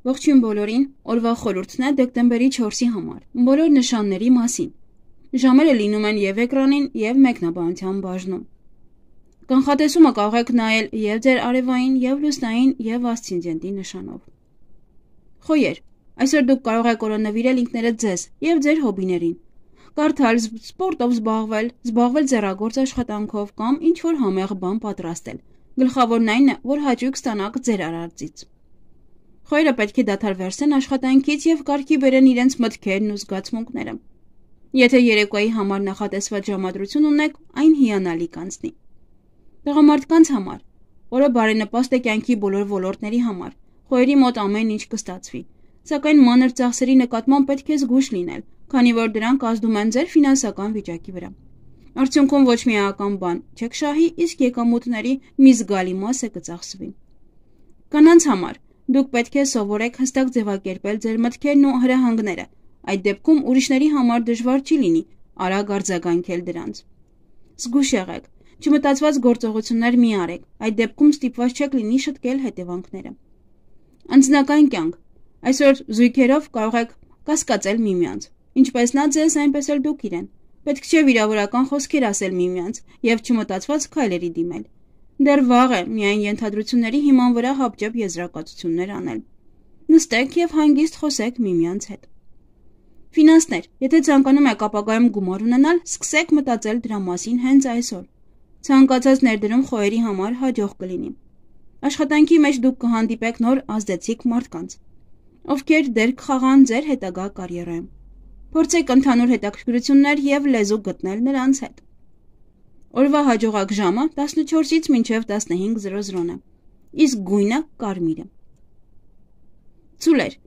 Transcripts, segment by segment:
Ողջույն բոլորին, օրվա խորհուրդն է դեկտեմբերի 4-ի համար, բոլոր նշանների մասին։ Ժամերը լինում են և էկրանին, և մեկնաբանության բաժնում։ Կանխատեսումը կարող եք նայել և ձեր արևային, և լուսնային, և ասցենդենտի նշանով։ Խոյեր, այսօր դուք կարող եք օրոնավիրել ինքներդ ձեզ և ձեր հոբիներին։ Կարդալ, սպորտով զբաղվել ձեռագործ աշխատանքով կամ ինչ-որ համեղ բան պատրաստել։ Գլխավորն այն է, որ հաճույք ստանաք ձեր արածից։ Խոյերը պետք է դադար վերցնեն աշխատանքից և կարգի բերեն իրենց մտքերն ու զգացմունքները։ Եթե երեկոյի համար նախատեսված ժամադրություն ունեք, այն հիանալի կանցնի։ Տղամարդկանց համար օրը բարենպաստ է կյանքի բոլոր ոլորտների համար։ Խոյերի մոտ ամեն ինչ կստացվի, սակայն մանր ծախսերի նկատմամբ պետք է զգույշ լինել, քանի որ դրանք ազդում են ձեր ֆինանսական վիճակի վրա։ Արդյունքում ոչ մի էական բան չեք շահի, իսկ եկամուտների մի զգալի մասը կծախսվի։ Կանանց համար դուք պետք է սովորեք հստակ ձևակերպել ձեր մտքերն ու հրահանգները, այդ դեպքում ուրիշների համար դժվար չի լինի արագ արձագանքել դրանց։ Զգույշ եղեք, չմտածված գործողություններ մի արեք, այդ դեպքում ստիպված չեք լինի շտկել հետևանքները։ Անձնական կյանք, այսօր զույգերով կարող եք կասկածել միմյանց, ինչպես նա ձեզ, այնպես էլ դուք իրեն։ Պետք չէ վիրավորական խոսքեր ասել միմյանց և չմտածված քայլերի դիմել։ Դեռ վաղ է միայն ենթադրությունների հիման վրա հապճեպ եզրակացություններ անել։ Նստեք և հանգիստ խոսեք միմյանց հետ։ Ֆինանսներ, եթե ցանկանում եք ապագայում գումար ունենալ, սկսեք մտածել դրա մասին հենց այսօր։ Ցանկացած ներդրում խոյերի համար հաջող կլինի։ Աշխատանքի մեջ դուք կհանդիպեք նոր ազդեցիկ մարդկանց, ովքեր դեր կխաղան ձեր հետագա կարիերայում։ Փորձեք ընդհանուր հետաքրքրություններ և լեզու գտնել նրանց հետ։ Օրվա հաջողակ ժամը 14-ից մինչև 15:00 է, իսկ գույնը կարմիրը։ Ցուլեր,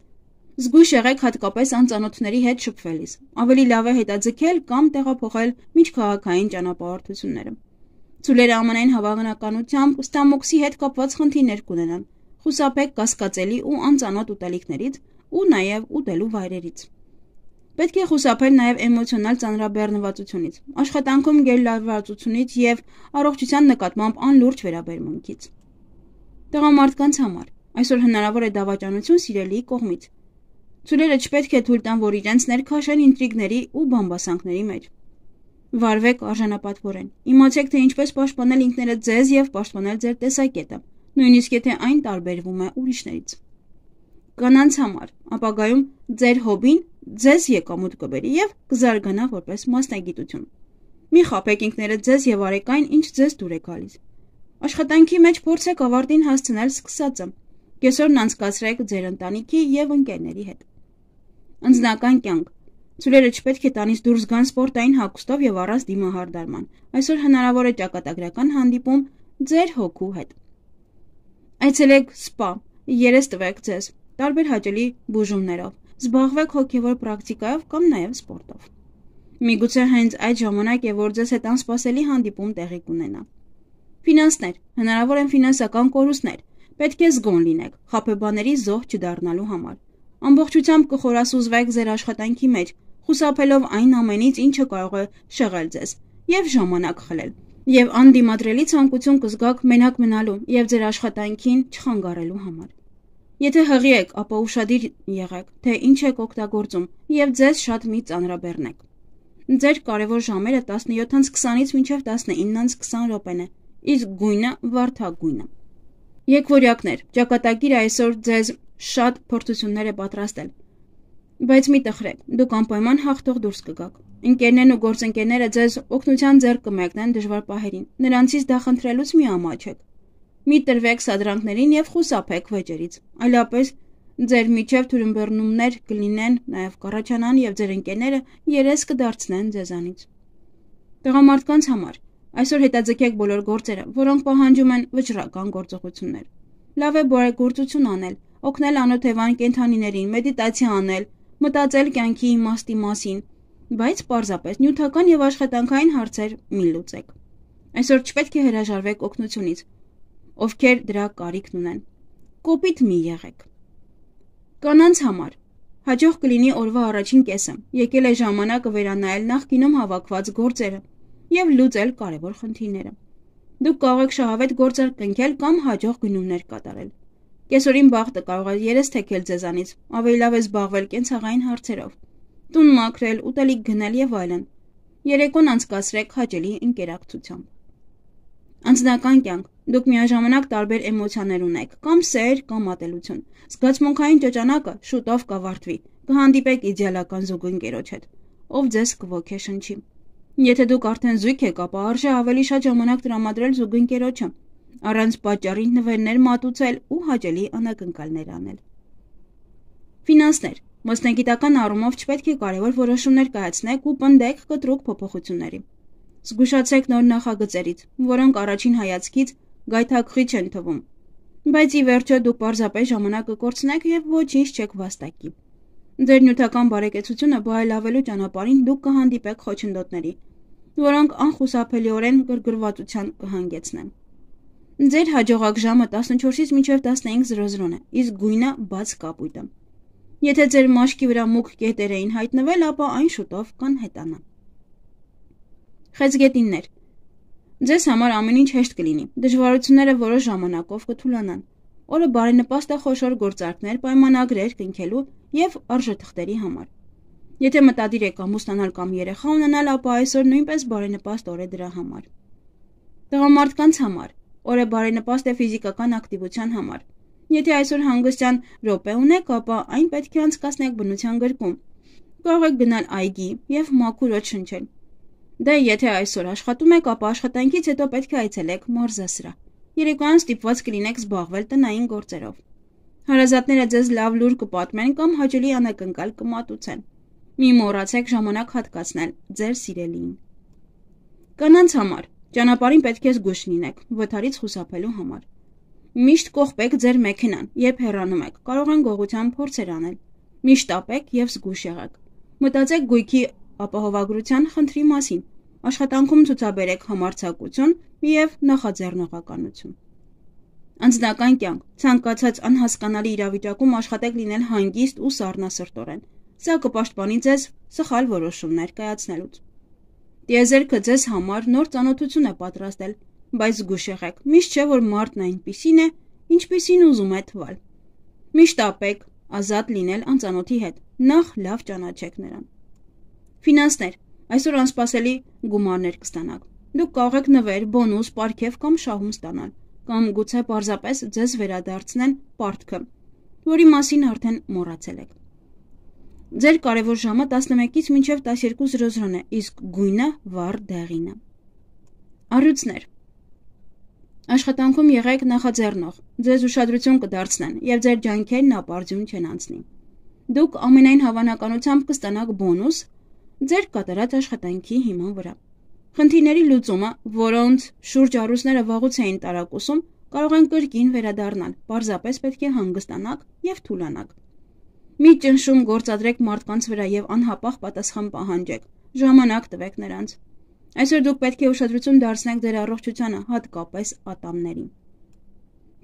զգույշ եղեք հատկապես անծանոթների հետ շփվելիս, ավելի լավ է հետաձգել կամ տեղափոխել միջքաղաքային ճանապարհորդությունները։ Ցուլերը ամենայն հավանականությամբ ստամոքսի հետ կապված խնդիրներ կունենան, խուսափեք կասկածելի ու անծանոթ ուտելիքներից ու նաև ուտելու վայրերից։ Պետք է խուսափել նաև էմոցիոնալ ծանրաբեռնվածությունից, աշխատանքում գերլարվածությունից և առողջության նկատմամբ անլուրջ վերաբերմունքից։ Տղամարդկանց համար այսօր հնարավոր է դավաճանություն սիրելիի կողմից։ Ցուլերը չպետք է թույլ տան, որ իրենց ներքաշեն ինտրիգների ու բամբասանքների մեջ։ Վարվեք արժանապատվորեն, իմացեք, թե ինչպես պաշտպանել ինքներդ ձեզ և պաշտպանել ձեր տեսակետը, նույնիսկ եթե այն տարբերվում է ուրիշներից։ Կանանց համար ապագայում ձեր հոբին ձեզ եկամուտ կբերի և կզարգանա որպես մասնագիտություն։ Մի խաբեք ինքներդ ձեզ և արեք այն, ինչ ձեզ դուր է գալիս։ Աշխատանքի մեջ փորձեք ավարտին հասցնել սկսածը։ Կեսօրն անցկացրեք ձեր ընտանիքի և ընկերների հետ։ Անձնական կյանք, ցուլերը չպետք է տանից դուրս գան սպորտային հագուստով և առանց դիմահարդարման։ Այսօր հնարավոր է ճակատագրական հանդիպում ձեր հոգու հետ։ Այցելեք սպա, երես տվեք ձեզ, տարբեր հաճելի բուժումներով, զբաղվեք հոգևոր պրակտիկայով կամ նաև սպորտով։ Միգուցե հենց այդ ժամանակ է, որ ձեզ հետ անսպասելի հանդիպում տեղի կունենա։ Ֆինանսներ, հնարավոր են ֆինանսական կորուստներ, պետք է զգոն լինեք, խաբեբաների զոհ չդառնալու համար։ Ամբողջությամբ կխորասուզվեք ձեր աշխատանքի մեջ, խուսափելով այն ամենից, ինչը կարող է շեղել ձեզ և ժամանակ խլել, և անդիմադրելի ցանկություն կզգաք մենակ մնալու և ձեր աշխատանքին չխանգարելու համար։ Եթե հղի եք, ապա ուշադիր եղեք, թե ինչ եք օգտագործում և ձեզ շատ մի ծանրաբեռնեք։ Ձեր կարևոր ժամերը 17:20-ից մինչև 19:20 րոպեն է, իսկ գույնը վարդագույնը։ Եկվորյակներ, ճակատագիրը այսօր ձեզ շատ փորձություններ է պատրաստել, բայց մի տխրեք, դուք անպայման հաղթող դուրս կգաք։ Ընկերներն ու գործընկերները ձեզ օգնության ձեռք կմեկնեն դժվար պահերին, նրանցից դա խնդրելուց մի ամաչեք։ Մի տրվեք սադրանքներին և խուսափեք վեճերից, այլապես ձեր միջև թյուրըմբռնումներ կլինեն, նաև կառաջանան և ձեր ընկերները երես կդարձնեն ձեզանից։ Տղամարդկանց համար այսօր հետաձգեք բոլոր գործերը, որոնք պահանջում են վճռական գործողություններ։ Լավ է բարեգործություն անել, օգնել անօթևան կենդանիներին, մեդիտացիա անել, մտածել կյանքի իմաստի մասին, բայց պարզապես նյութական և աշխատանքային հարցեր մի լուծեք։ Այսօր չպետք է հրաժարվեք օգնությունից, ովքեր դրա կարիքն ունեն։ Կոպիտ մի եղեք։ Կանանց համար հաջող կլինի օրվա առաջին կեսը, եկել է ժամանակը վերանայել նախկինում հավաքված գործերը և լուծել կարևոր խնդիրները։ Դուք կարող եք շահավետ գործեր կնքել կամ հաջող գնումներ կատարել։ Կեսօրին բախտը կարող է երես թեքել ձեզանից, ավելի լավ է զբաղվել կենցաղային հարցերով, տուն մաքրել, ուտելիք գնել եւ այլն։ Երեկոն անցկացրեք հաճելի ընկերակցությամբ։ Անձնական կյանք։ Դուք միաժամանակ տարբեր էմոցիաներ ունեք, կամ սեր, կամ ատելություն։ Զգացմունքային ճոճանակը շուտով կավարտվի, կհանդիպեք իդեալական զուգընկերոջ հետ, ով ձեզ կոգեշնչի։ Եթե դուք արդեն զույգ եք, ապա արժե ավելի շատ ժամանակ տրամադրել զուգընկերոջը, առանց պատճառի նվերներ մատուցել ու հաճելի անակնկալներ անել։ Ֆինանսներ։ Մասնագիտական առումով չպետք է կարևոր որոշումներ կայացնեք ու պնդեք կտրուկ փոփոխությունների։ Զգուշացեք նոր նախագծերից, որոնք առաջին հայացքից գայթակղիչ են թվում, բայց ի վերջո դուք պարզապես ժամանակ կկորցնեք եւ ոչինչ չեք վաստակի։ Ձեր նյութական բարեկեցությունը բարելավելու ճանապարհին դուք կհանդիպեք խոչընդոտների, որոնք անխուսափելիորեն գրգռվածության կհանգեցնեն։ Ձեր հաջողակ ժամը 14-ից մինչև 15:00 է, իսկ գույնը բաց կապույտը։ Եթե ձեր մաշկի վրա մուգ կետեր էին հայտնվել, ապա այն շուտով կանհետանա։ Խեցգետիններ։ Ձեզ համար ամեն ինչ հեշտ կլինի, դժվարությունները որոշ ժամանակով կթուլանան։ Օրը բարենպաստ է խոշոր գործարքներ, պայմանագրեր կնքելու եւ արժեթղթերի համար։ Եթե մտադիր եք ամուսնանալ կամ երեխա ունենալ, ապա այսօր նույնպես բարենպաստ օր է դրա համար։ Տղամարդկանց համար օրը բարենպաստ է ֆիզիկական ակտիվության համար։ Եթե այսօր հանգստյան րոպե ունեք, ապա այն պետք է անցկացնեք բնության գրկում։ Կարող եք գնալ այգի եւ մաքուր օդ շնչել։ Դե եթե այսօր աշխատում եք, ապա աշխատանքից հետո պետք է այցելեք մարզասրահ։ Երեկոյան ստիպված կլինեք զբաղվել տնային գործերով։ Հարազատները ձեզ լավ լուր կպատմեն կամ հաճելի անակնկալ կմատուցեն։ Մի մոռացեք ժամանակ հատկացնել ձեր սիրելիին։ Կանանց համար ճանապարհին պետք է զգույշ լինեք վթարից խուսափելու համար։ Միշտ կողպեք ձեր մեքենան, երբ հեռանում եք, կարող են գողության փորձեր անել։ Միշտ ապեք եւ զգույշ եղեք։ Մտածեք գույքի ապահովագրության խնդրի մասին։ Աշխատանքում ցուցաբերեք համարձակություն եւ նախաձեռնողականություն։ Անձնական կյանք։ Ցանկացած անհասկանալի իրավիճակում աշխատեք լինել հանգիստ ու սառնասրտորեն։ Սա կպաշտպանի ձեզ սխալ որոշումներ կայացնելուց։ Տիեզերքը ձեզ համար նոր ծանոթություն է պատրաստել, բայց զգույշ եղեք։ Միշտ չէ, որ մարդն այնպիսին է, ինչպիսին ուզում է թվալ։ Միշտ ապեք ազատ լինել անծանոթի հետ։ Նախ լավ ճանաչեք նրան։ Ֆինանսներ։ Այսօր անսպասելի գումարներ կստանաք։ Դուք կարող եք նվեր, բոնուս, պարգև կամ շահում ստանալ, կամ գուցե պարզապես ձեզ վերադարձնեն պարտքը, որի մասին արդեն մոռացել եք։ Ձեր կարևոր ժամը 11-ից մինչև 12:00 է, իսկ գույնը վառ դեղինը։ Առյուծներ։ Աշխատանքում եղեք նախաձեռնող, ձեզ ուշադրություն կդարձնեն եւ ձեր ջանքերն ապարդյուն չեն անցնի։ Դուք ամենայն հավանականությամբ կստանաք բոնուս ձեր կատարած աշխատանքի հիման վրա։ Խնդիրների լուծումը, որոնց շուրջ առույցները վաղուց էին տարակուսում, կարող են կրկին վերադառնալ, պարզապես պետք է հանգստանաք եւ թուլանաք։ Մի ճնշում գործադրեք մարդկանց վրա եւ անհապաղ պատասխան պահանջեք, ժամանակ տվեք նրանց։ Այսօր դուք պետք է ուշադրություն դարձնեք ձեր առողջությանը, հատկապես ատամներին։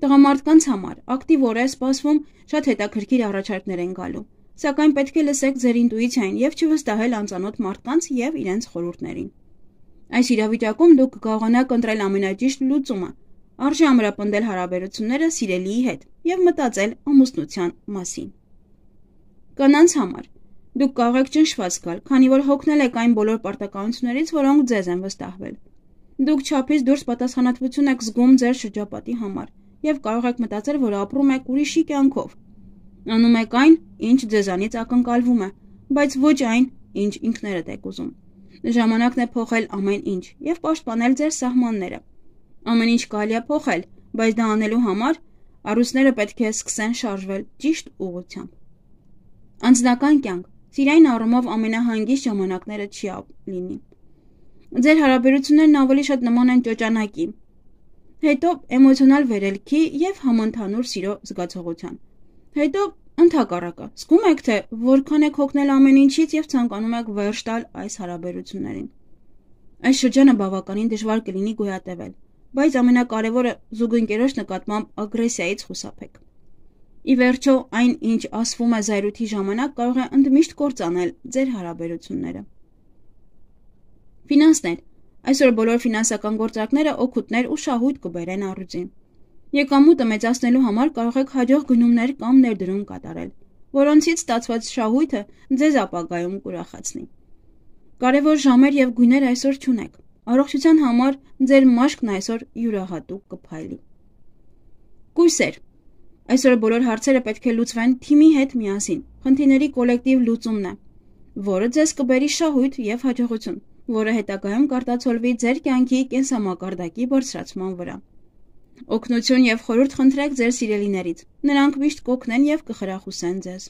Տղամարդկանց համար ակտիվ օր է սպասվում, շատ հետաքրքիր առաջարկներ են գալու, սակայն պետք է լսեք ձեր ինտուիցիային եւ չվստահել անծանոթ մարդկանց եւ իրենց խորհուրդներին։ Այս իրավիճակում դուք կկարողանաք ընտրել ամենաճիշտ լուծումը, արժե ամրապնդել հարաբերությունները սիրելիի հետ եւ մտածել ամուսնության մասին։ Կանանց համար դուք կարող եք ճնշված գալ, քանի որ հոգնել եք այն բոլոր պարտականություններից, որոնք ձեզ են վստահվել։ Դուք չափից դուրս պատասխանատվություն եք զգում ձեր շրջապատի համար եւ կարող եք մտածել, որ ապրում եք ուրիշի կյանքով։ Անում եք այն, ինչ ձեզանից ակնկալվում է, բայց ոչ այն, ինչ ինքներդ եք ուզում։ Ժամանակն է փոխել ամեն ինչ եւ պաշտպանել ձեր սահմանները։ Ամեն ինչ կարելի է փոխել, բայց դա անելու համար առույցները պետք է սկսեն շարժվել ճիշտ ուղղությամբ։ Անձնական կյանք։ Սիրային առումով ամենահանգիստ ժամանակները չի լինի։ Ձեր հարաբերություններն ավելի շատ նման են ճոճանակի, հետո էմոցիոնալ վերելքի եւ համընդհանուր սիրո զգացողության։ Հետո ընդհակառակը, զգում եք, թե որքան եք հոգնել ամեն ինչից եւ ցանկանում եք վերջ տալ այս հարաբերություններին։ Այս շրջանը բավականին դժվար կլինի գոյատևել, բայց ամենակարևորը զուգընկերոջ նկատմամբ ագրեսիայից խուսափեք։ Ի վերջո, այն, ինչ ասվում է զայրույթի ժամանակ, կարող է ընդմիշտ կործանել ձեր հարաբերությունները։ Ֆինանսներ։ Այսօր բոլոր ֆինանսական գործարքները օգուտներ ու շահույթ կբերեն առյուծին։ Եկամուտը մեծացնելու համար կարող եք հաջող գնումներ կամ ներդրում կատարել, որոնցից ստացված շահույթը ձեզ ապագայում կուրախացնի։ Կարևոր ժամեր եւ գույներ այսօր չունեք։ Առողջության համար ձեր մաշկն այսօր յուրահատուկ կփայլի։ Կույսեր։ Այսօր բոլոր հարցերը պետք է լուծվեն թիմի հետ միասին։ Խնդիրների կոլեկտիվ լուծումն է, որը ձեզ կբերի շահույթ եւ հաջողություն, որը հետագայում կարտացոլվի ձեր կյանքի կենսամակարդակի բարձրացման վրա։ Օգնություն եւ խորհուրդ խնդրեք ձեր սիրելիներից։ Նրանք միշտ կօգնեն եւ կխրախուսեն ձեզ։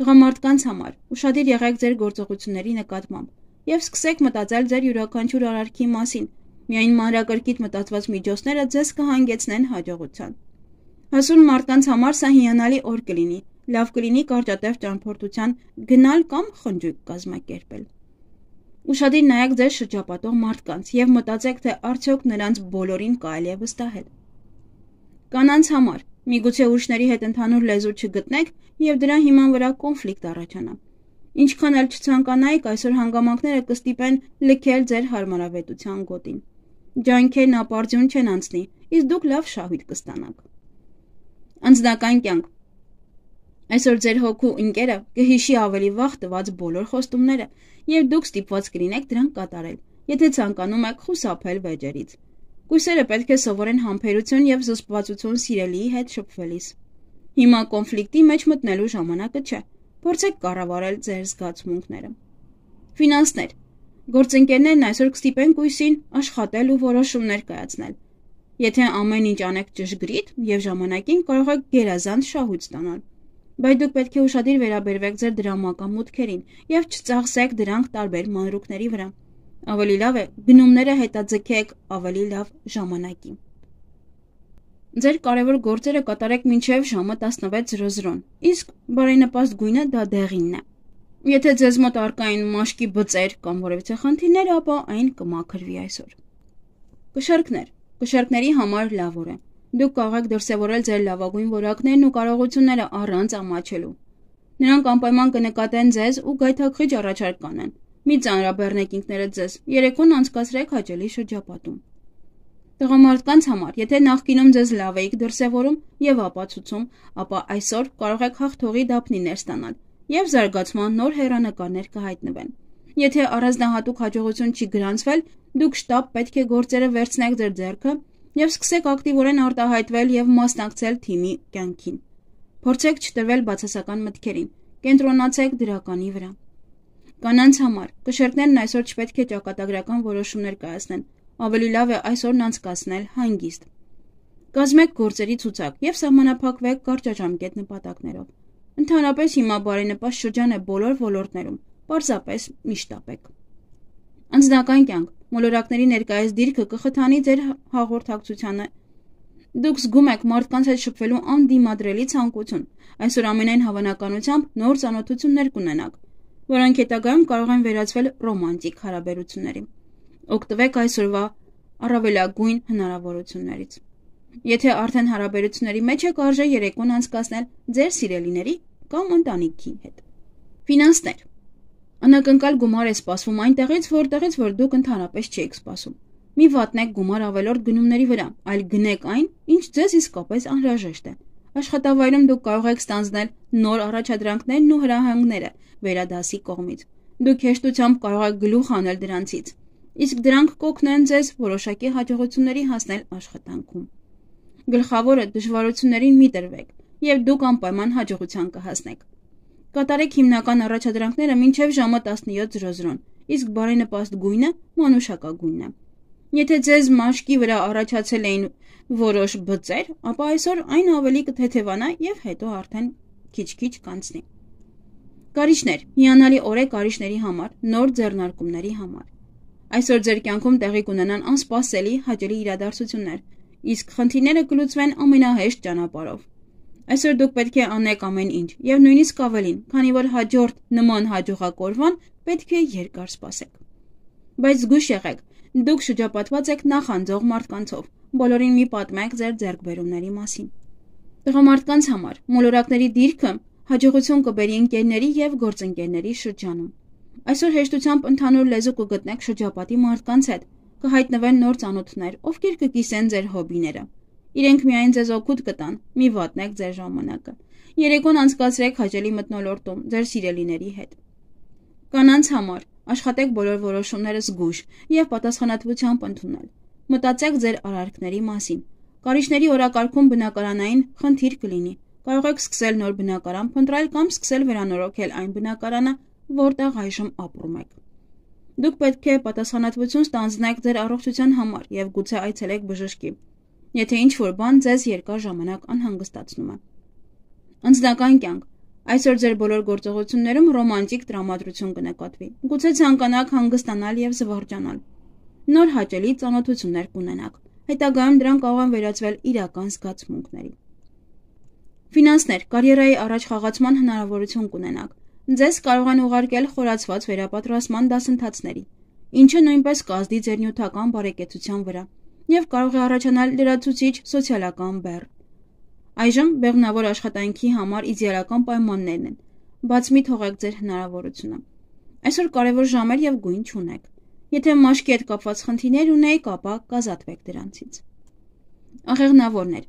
Տղամարդկանց համար ուշադիր եղեք ձեր գործողությունների նկատմամբ եւ սկսեք մտածել ձեր յուրաքանչյուր արարքի մասին։ Միայն մանրակրկիտ մտածված միջոցները ձեզ կհանգեցնեն հաջողության։ Հասուն մարդկանց համար սա հիանալի օր կլինի։ Լավ կլինի կարճատև ճամփորդության գնալ կամ խնջույք կազմակերպել։ Ուշադիր նայեք ձեր շրջապատող մարդկանց եւ մտածեք, թե արդյոք նրանց բոլորին կարելի է վստահել։ Կանանց համար միգուցե ուրիշների հետ ընդհանուր լեզու չգտնեք եւ դրա հիման վրա կոնֆլիկտ առաջանա։ Ինչքան էլ չցանկանայիք, այսօր հանգամանքները կստիպեն լքել ձեր հարմարավետության գոտին։ Ջանքերն ապարդյուն չեն անցնի, իսկ դուք լավ շահույթ կստանաք։ Անձնական կյանք։ Այսօր ձեր հոգու ընկերը կհիշի ավելի վաղ տված բոլոր խոստումները եւ դուք ստիպված կլինեք դրանք կատարել, եթե ցանկանում եք խուսափել վեճերից։ Կույսերը պետք է սովորեն համբերություն եւ զսպվածություն սիրելիի հետ շփվելիս։ Հիմա կոնֆլիկտի մեջ մտնելու ժամանակը չէ։ Փորձեք կառավարել ձեր զգացմունքները։ Ֆինանսներ։ Գործընկերներն այսօր կստիպեն կույսին աշխատել ու որոշումներ կայացնել։ Եթե ամեն ինչ անեք ճշգրիտ եւ ժամանակին, կարող եք գերազանց շահույթ ստանալ։ Բայց դուք պետք է ուշադիր վերաբերվեք ձեր դրամական մուտքերին եւ չծախսեք դրանք տարբեր մանրուքների վրա։ Ավելի լավ է գնումները հետաձգեք ավելի լավ ժամանակի։ Ձեր կարևոր գործերը կատարեք մինչև ժամը 16:00, իսկ բարենպաստ գույնը դա դեղինն է։ Եթե ձեզ մոտ առկային մաշկի բծեր կամ որևիցե խնդիրներ, ապա այն կմաքրվի այսօր։ Կշեռքներ։ Կշեռքների համար լավ օր է։ Դուք կարող եք դրսևորել ձեր լավագույն որակներն ու կարողությունները առանց ամաչելու։ Նրանք անպայման կնկատեն ձեզ ու գայթակղիչ առաջարկ կանեն։ Մի ծանրաբեռնեք ինքներդ ձեզ, երեկոն անցկացրեք հաճելի շրջապատում։ Տղամարդկանց համար, եթե նախկինում ձեզ լավ էիք դրսևորում եւ ապացուցում, ապա այսօր կարող եք հաղթողի դափնիներ ստանալ եւ զարգացման նոր հեռանկարներ կհայտնվեն։ Եթե առանձնահատուկ հաջողություն չի գրանցվել, դուք շտապ պետք է գործերը վերցնեք ձեր ձեռքը եւ սկսեք ակտիվորեն արտահայտվել եւ մասնակցել թիմի կյանքին։ Փորձեք չտրվել բացասական մտքերին, կենտրոնացեք դրականի վրա։ Կանանց համար կշեռքներն այսօր չպետք է ճակատագրական որոշումներ կայացնեն, ավելի լավ է այսօրն անցկացնել հանգիստ։ Կազմեք գործերի ցուցակ եւ սահմանափակվեք կարճաժամկետ նպատակներով։ Ընդհանրապես հիմա բարենպաստ շրջան է բոլոր ոլորտներում, պարզապես մի շտապեք։ Անձնական կյանք, մոլորակների ներկայիս դիրքը կխթանի ձեր հաղորդակցությանը։ Դուք զգում եք մարդկանց հետ շփվելու անդիմադրելի ցանկություն։ Այսօր ամենայն հավանականությամբ նոր ծանոթություններ կունենաք, որոնք հետագայում կարող են վերածվել ռոմանտիկ հարաբերությունների։ Օգտվեք այսօրվա առավելագույն հնարավորություններից։ Եթե արդեն հարաբերությունների մեջ եք, արժե երեկոն անցկացնել ձեր սիրելիների կամ ընտանիքի հետ։ Ֆինանսներ։ Անակնկալ գումար է սպասվում այնտեղից, որ դուք ընդհանրապես չեք սպասում։ Մի վատնեք գումար ավելորդ գնումների վրա, այլ գնեք այն, ինչ ձեզ իսկապես անհրաժեշտ է։ Աշխատավայրում դուք կարող եք ստանձնել նոր առաջադրանքներն ու հրահանգները վերադասի կողմից։ Դուք հեշտությամբ կարող եք գլուխ հանել դրանցից, իսկ դրանք կօգնեն ձեզ որոշակի հաջողությունների հասնել աշխատանքում։ Գլխավորը դժվարություններին մի տրվեք, եւ դուք անպայման հաջողության կհասնեք։ Կատարեք հիմնական առաջադրանքները մինչև ժամը 17:00, իսկ բարենպաստ գույնը մանուշակագույնն է։ Եթե ձեզ մաշկի վրա առաջացել էին որոշ բծեր, ապա այսօր այն ավելի կթեթևանա եւ հետո արդեն քիչ-քիչ կանցնի։ Կարիճներ, հիանալի օր է կարիճների համար, նոր ձեռնարկումների համար։ Այսօր ձեր կյանքում տեղի կունենան անսպասելի հաճելի իրադարձություններ, իսկ խնդիրները կլուծվեն ամենահեշտ ճանապարհով։ Այսօր դուք պետք է անեք ամեն ինչ եւ նույնիսկ ավելին, քանի որ հաջորդ նման հաջողակորվան պետք է երկար սպասեք։ Բայց զգույշ եղեք, դուք շրջապատված եք նախանձող մարդկանցով, բոլորին մի պատմեք ձեր ձեռքբերումների մասին։ Տղամարդկանց համար մոլորակների դիրքը հաջողություն կբերի ընկերների եւ գործընկերների շրջանում։ Այսօր հեշտությամբ ընդհանուր լեզու կգտնեք շրջապատի մարդկանց հետ, կհայտնվեն նոր ծանոթներ, ովքեր կկիսեն ձեր հոբիները։ Իրենք միայն ձեզ օգուտ կտան, մի վատնեք ձեր ժամանակը։ Երեկոն անցկացրեք հաճելի մթնոլորտում ձեր սիրելիների հետ։ Կանանց համար աշխատեք բոլոր որոշումները զգույշ եւ պատասխանատվությամբ ընդունել։ Մտածեք ձեր արարքների մասին։ Կարիճների օրակարգում բնակարանային խնդիր կլինի։ Կարող եք սկսել նոր բնակարան փնտրել կամ սկսել վերանորոգել այն բնակարանը, որտեղ այժմ ապրում եք։ Դուք պետք է պատասխանատվություն ստանձնեք ձեր առողջության համար եւ գուցե այցելեք բժշկի, եթե ինչ-որ բան ձեզ երկար ժամանակ անհանգստացնում է։ Անձնական կյանք։ Այսօր ձեր բոլոր գործողություններում ռոմանտիկ տրամադրություն կնկատվի։ Գուցե ցանկանաք հանգստանալ եւ զվարճանալ։ Նոր հաճելի ծանոթություններ կունենաք։ Հետագայում դրանք կարող են վերածվել իրական զգացմունքների։ Ֆինանսներ, կարիերայի առաջխաղացման հնարավորություն կունենաք։ Ձեզ կարող են ուղարկել խորացված վերապատրաստման դասընթացների, ինչը նույնպես կազդի ձեր նյութական բարեկեցության վրա եւ կարող է առաջանալ լրացուցիչ սոցիալական բեռ։ Այժմ բեղմնավոր աշխատանքի համար իդեալական պայմաններն են։ Բաց մի թողեք ձեր հնարավորությունը։ Այսօր կարևոր ժամեր եւ գույն չունեք։ Եթե մաշկի հետ կապված խնդիրներ ունեք, ապա կազատվեք դրանցից։ Աղեղնավորներ։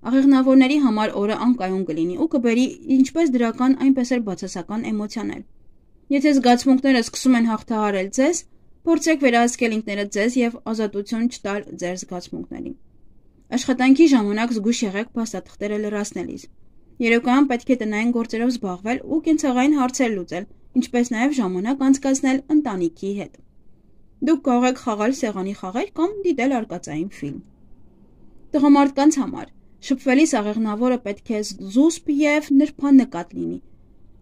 Աղեղնավորների համար օրը անկայուն կլինի ու կբերի ինչպես դրական, այնպես էլ բացասական էմոցիաներ։ Եթե զգացմունքները սկսում են հաղթահարել ձեզ, փորձեք վերահսկել ինքներդ ձեզ եւ ազատություն չտալ ձեր զգացմունքներին։ Աշխատանքի ժամանակ զգույշ եղեք փաստաթղթերը լրացնելիս։ Երեկոյան պետք է տնային գործերով զբաղվել ու կենցաղային հարցեր լուծել, ինչպես նաեւ ժամանակ անցկացնել ընտանիքի հետ։ Դուք կարող եք խաղալ սեղանի խաղեր կամ դիտել արկածային ֆիլմ։ Տղամարդկանց համար շփվելիս աղեղնավորը պետք է զուսպ եւ նրբանկատ լինի։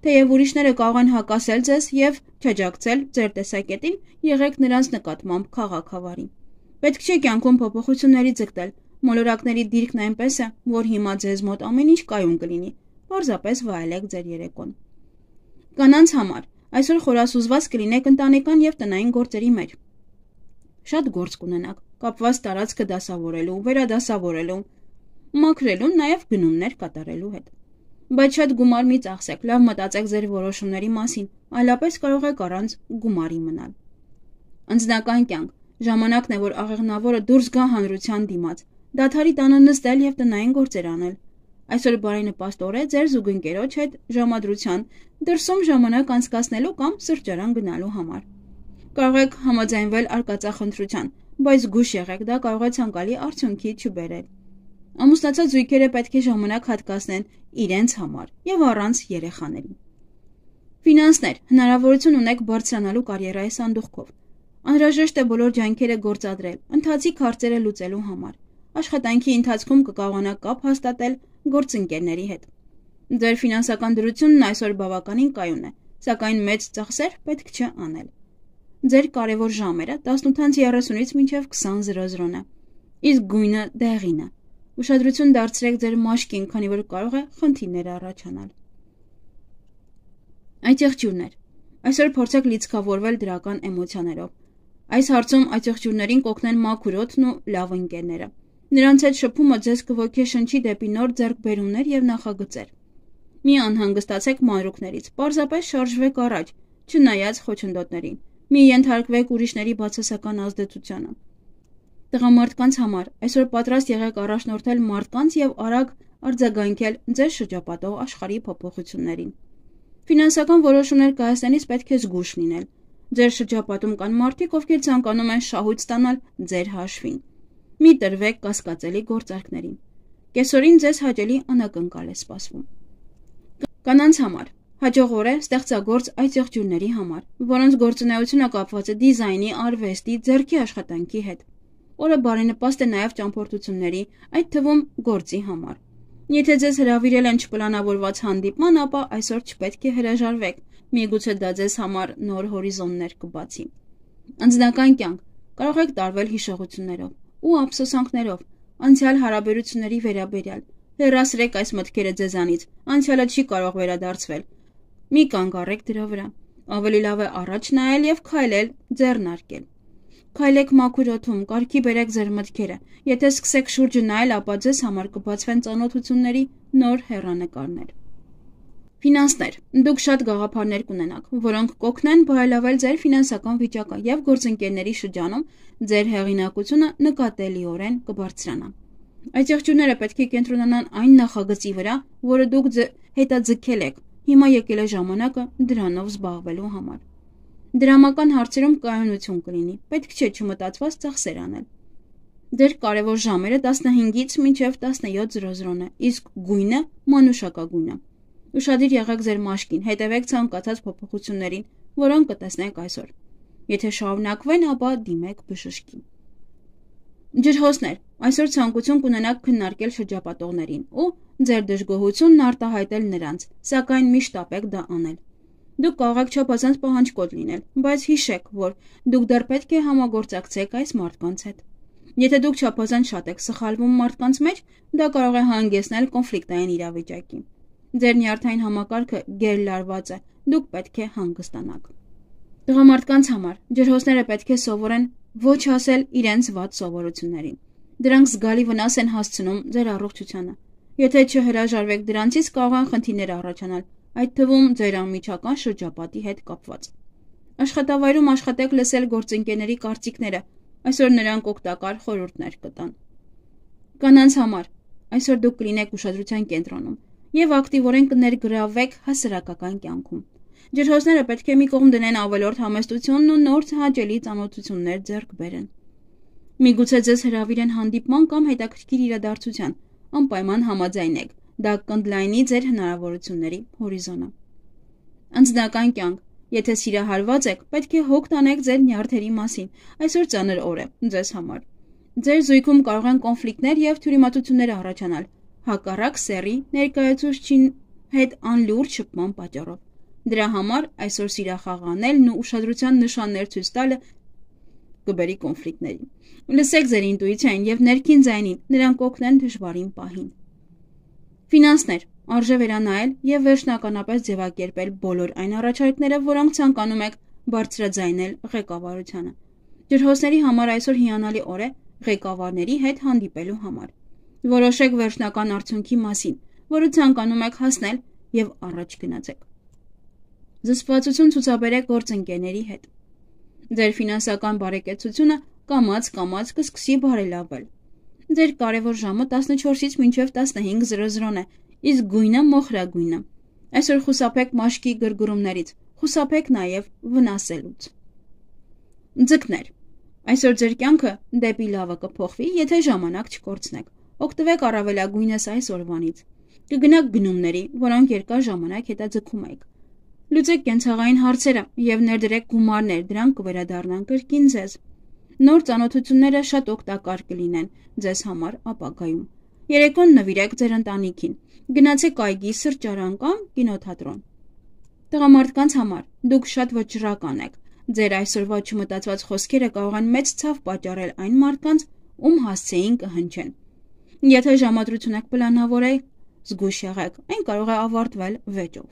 Թեև ուրիշները կարող են հակասել ձեզ եւ չաջակցել ձեր տեսակետին, եղեք նրանց նկատմամբ քաղաքավարի։ Պետք չէ կյանքում փոփոխությունների ձգտել, մոլորակների դիրքն այնպես է, որ հիմա ձեզ մոտ ամեն ինչ կայուն կլինի, պարզապես վայելեք ձեր երեկոն։ Կանանց համար այսօր խորասուզված կլինեք ընտանեկան եւ տնային գործերի մեջ։ Շատ գործ կունենաք, կապված տարածքը դասավորելու, վերադասավորելու, մաքրելու, նաեւ գնումներ կատարելու հետ։ Բայց շատ գումար մի ծախսեք, լավ մտածեք ձեր որոշումների մասին, այլապես կարող եք առանց գումարի մնալ։ Անձնական կյանք։ Ժամանակն է, որ աղեղնավորը դուրս գա հանրության դիմաց, դադարի տանը նստել եւ տնային գործեր անել։ Այսօր բարենպաստ օր է ձեր զուգընկերոջ հետ ժամադրության դրսում ժամանակ անցկացնելու կամ սրճարան գնալու համար։ Կարող եք համաձայնվել արկածախնդրության, բայց զգույշ եղեք, դա կարող է ցանկալի արդյունքի չբերել։ Ամուսնացած զույգերը պետք է ժամանակ հատկացնեն իրենց համար եւ առանց երեխաների։ Ֆինանսներ, հնարավորություն ունեք բարձրանալու կարիերայի սանդուղքով։ Անհրաժեշտ է բոլոր ջանքերը գործադրել, ընթացիկ հարցերը լուծելու համար։ Աշխատանքի ընթացքում կկարողանաք կապ հաստատել գործընկերների հետ։ Ձեր ֆինանսական դրությունն այսօր բավականին կայուն է, սակայն մեծ ծախսեր պետք չէ անել։ Ձեր կարևոր ժամերը 18:30-ից մինչև 20:00-ն է, իսկ գույնը դեղին է։ Ուշադրություն դարձրեք ձեր մաշկին, քանի որ կարող է խնդիրներ առաջանալ։ Այցեղջյուրներ։ Այսօր փորձեք լիցքավորվել դրական էմոցիաներով։ Այս հարցում այցեղջյուրներին կօգնեն մաքուր օդն ու լավ ընկերները։ Նրանց հետ շփումը ձեզ կոգեշնչի դեպի նոր ձեռքբերումներ եւ նախագծեր։ Մի անհանգստացեք մանրուքներից, պարզապես շարժվեք առաջ, չնայած խոչընդոտներին։ Մի ենթարկվեք ուրիշների բացասական ազդեցությանը։ Տղամարդկանց համար այսօր պատրաստ եղեք առաջնորդել մարդկանց եւ արագ արձագանքել ձեզ շրջապատող աշխարհի փոփոխություններին։ Ֆինանսական որոշումներ կայացնելիս պետք է զգույշ լինել։ Ձեր շրջապատում կան մարդիկ, ովքեր ցանկանում են շահույթ ստանալ ձեր հաշվին։ Մի տրվեք կասկածելի գործարքներին։ Կեսօրին ձեզ հաճելի անակնկալ է սպասվում։ Կանանց համար հաջող օր է ստեղծագործ այցեղջյուրների համար, որոնց գործունեությունը կապված է դիզայնի, արվեստի, ձեռքի աշխատանքի հետ։ Օրը բարենպաստ է նաև ճամփորդությունների, այդ թվում գործի համար։ Եթե ձեզ հրավիրել են չպլանավորված հանդիպման, ապա այսօր չպետք է հրաժարվեք, միգուցե դա ձեզ համար նոր հորիզոններ կբացի։ Անձնական կյանք կարող եք տարվել հիշողություններով ու ափսոսանքներով, անցյալ հարաբերությունների վերաբերյալ։ Հեռացրեք այս մտքերը ձեզանից, անցյալը չի կարող վերադարձվել։ Մի կանգ առեք դրա վրա։ Ավելի լավ է առաջ նայել եւ քայլել ձեռնարկել։ Քայլեք մաքուր օդում, կարգի բերեք ձեր մտքերը։ Եթե սկսեք շուրջը նայել, ապա ձեզ համար կբացվեն ծանոթությունների նոր հեռանկարներ։ Ֆինանսներ։ Դուք շատ գաղափարներ կունենաք, որոնք կօգնեն բարելավել ձեր ֆինանսական վիճակը եւ գործընկերների շրջանում ձեր հեղինակությունը նկատելիորեն կբարձրանա։ Այդ եղջյուրները պետք է կենտրոնանան այն նախագծի վրա, որը դուք հետաձգել եք։ Հիմա եկել է ժամանակը դրանով զբաղվելու համար։ Դրամական հարցերում կայունություն կլինի, պետք չէ չմտածված ծախսեր անել։ Դեր կարևոր ժամերը 15-ից մինչև 17:00 է, իսկ գույնը մանուշակագույն է։ Ուշադիր եղեք ձեր մաշկին, հետևեք ցանկացած փոփոխություններին, որոնք կտեսնեք այսօր։ Եթե շարունակվեն, ապա դիմեք բժշկի։ Ջրհոսներ, այսօր ցանկություն կունենաք քննարկել շրջապատողներին ու ձեր դժգոհությունն արտահայտել նրանց, սակայն միշտ ապեք դա անել։ Դուք կարող եք չափազանց պահանջկոտ լինել, բայց հիշեք, որ դուք դեռ պետք է համագործակցեք այս մարդկանց հետ։ Եթե դուք չափազանց շատ եք սխալվում մարդկանց մեջ, դա կարող է հանգեցնել կոնֆլիկտային իրավիճակի։ Ձեր նյարդային համակարգը գերլարված է, դուք պետք է հանգստանաք։ Տղամարդկանց համար ջրհոսները պետք է սովորեն ոչ ասել իրենց վատ սովորություններին։ Դրանք զգալի վնաս են հասցնում ձեր առողջությանը։ Եթե չհրաժարվեք դրանցից, կարող են խնդիրներ առաջանալ, այդ թվում ձեր անմիջական շրջապատի հետ կապված։ Աշխատավայրում աշխատեք լսել գործընկերների կարծիքները, այսօր նրանք օգտակար խորհուրդներ կտան։ Կանանց համար այսօր դուք կլինեք ուշադրության կենտրոնում եւ ակտիվորեն կներգրավվեք հասարակական կյանքում։ Ջրհոսները պետք է մի կողմ դնեն ավելորդ համեստությունն ու նոր հաճելի ծանոթություններ ձեռք բերեն։ Միգուցե ձեզ հրավիրեն հանդիպման կամ հետաքրքիր իրադարձության, անպայման համաձայնեք, դա կընդլայնի ձեր հնարավորությունների հորիզոնը։ Անձնական կյանք, եթե սիրահարված եք, պետք է հոգ տանեք ձեր նյարդերի մասին, այսօր ծանր օր է ձեզ համար։ Ձեր զույգում կարող են կոնֆլիկտներ եւ թյուրիմացություններ առաջանալ, հակառակ սեռի ներկայացուցչի հետ անլուրջ շփման պատճառով։ Դրա համար այսօր սիրախաղանելն ու ուշադրության նշաններ ցույց տալը կբերի կոնֆլիկտների։ Լսեք ձեր ինտուիցիային եւ ներքին ձայնին, նրանք կօգնեն դժվարին պահին։ Ֆինանսներ, արժե վերանայել եւ վերջնականապես ձևակերպել բոլոր այն առաջարկները, որոնք ցանկանում եք բարձրաձայնել ղեկավարությանը։ Ջրհոսների համար այսօր հիանալի օր է ղեկավարների հետ հանդիպելու համար։ Որոշեք վերջնական արդյունքի մասին, որը ցանկանում եք հասնել եւ առաջ գնացեք։ Զսպվածություն ցուցաբերեք գործընկերների հետ։ Ձեր ֆինանսական բարեկեցությունը կամաց կսկսի բարելավել։ Ձեր կարևոր ժամը 14-ից մինչև 15:00 է, իսկ գույնը մոխրագույնը։ Այսօր խուսափեք մաշկի գրգռումներից, խուսափեք նաև վնասելուց։ Ձկներ, այսօր ձեր կյանքը դեպի լավը կփոխվի, եթե ժամանակ չկորցնեք։ Օգտվեք առավելագույնս այս օրվանից։ Կգնաք գնումների, որոնք երկար ժամանակ հետաձգում եք։ Լուծեք կենցաղային հարցերը եւ ներդրեք գումարներ, դրանք կվերադառնան կրկին ձեզ։ Նոր ծանոթությունները շատ օգտակար կլինեն ձեզ համար ապագայում։ Երեկոն նվիրեք ձեր ընտանիքին։ Գնացեք այգի, սրճարան կամ կինոթատրոն։ Տղամարդկանց համար դուք շատ վճռական եք։ Ձեր այսօրվա չմտածված խոսքերը կարող են մեծ ցավ պատճառել այն մարդկանց, ում հասցեին կհնչեն։ Եթե ժամադրություն եք պլանավորել, զգույշ եղեք, այն կարող է ավարտվել վեճով։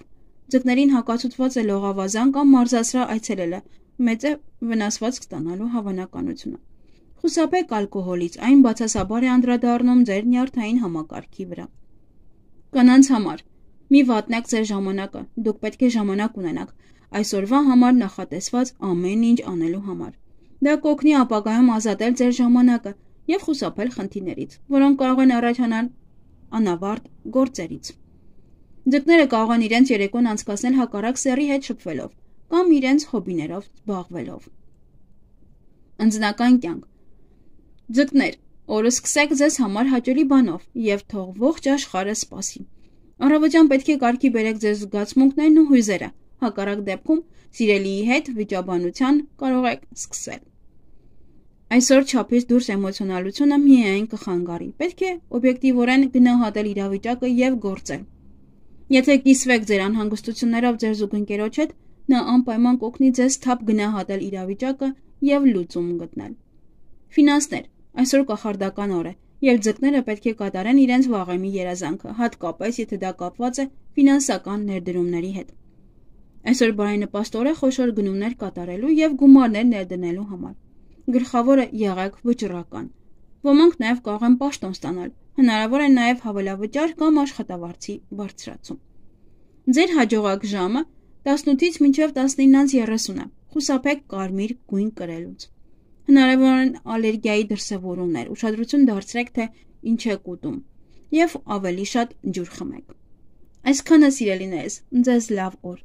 Ձկներին հակացուցված է լողավազան կամ մարզասրահ այցելելը, մեծ է վնասված ստանալու հավանականությունը։ Խուսափեք ալկոհոլից, այն բացասաբար է անդրադառնում ձեր նյարդային համակարգի վրա։ Կանանց համար մի վատնեք ձեր ժամանակը, դուք պետք է ժամանակ ունենաք այսօրվա համար նախատեսված ամեն ինչ անելու համար։ Դա կօգնի ապագայում ազատել ձեր ժամանակը եւ խուսափել խնդիրներից, որոնք կարող են առաջանալ անավարտ գործերից։ Ձկները կարող են իրենց երեկոն անցկացնել հակառակ սեռի հետ շփվելով կամ իրենց հոբիներով զբաղվելով։ Անձնական կյանք։ Ձկներ, օրը սկսեք ձեզ համար հաճելի բանով եւ թող ողջ աշխարհը սպասի։ Առավոտյան պետք է կարգի բերեք ձեր զգացմունքներն ու հույզերը, հակառակ դեպքում սիրելիի հետ վիճաբանության կարող եք սկսել։ Այսօր չափից դուրս էմոցիոնալությունը միայն կխանգարի, պետք է օբյեկտիվորեն գնահատել իրավիճակը եւ գործել։ Եթե կիսվեք ձեր անհանգստություններով ձեր զուգընկերոջ հետ, նա անպայման կօգնի ձեզ թափ գնահատել իրավիճակը եւ լուծում գտնել։ Ֆինանսներ, այսօր կախարդական օր է, եւ ձկները պետք է կատարեն իրենց վաղեմի երազանքը, հատկապես եթե դա կապված է ֆինանսական ներդրումների հետ։ Այսօր բարենպաստ օր է խոշոր գնումներ կատարելու եւ գումարներ ներդնելու համար։ Գլխավորը եղեք վճռական։ Ոմանք նաեւ կարող են պաշտոն ստանալ, հնարավոր է նաեւ հավելավճար կամ աշխատավարձի բարձրացում։ Ձեր հաջողակ ժամը 18-ից մինչև 19:30 է։ Խուսափեք կարմիր գույն կրելուց։ Հնարավոր են ալերգիայի դրսևորումներ, ուշադրություն դարձրեք, թե ինչ եք ուտում եւ ավելի շատ ջուր խմեք։ Այսքանը, սիրելիներս, ձեզ լավ օր։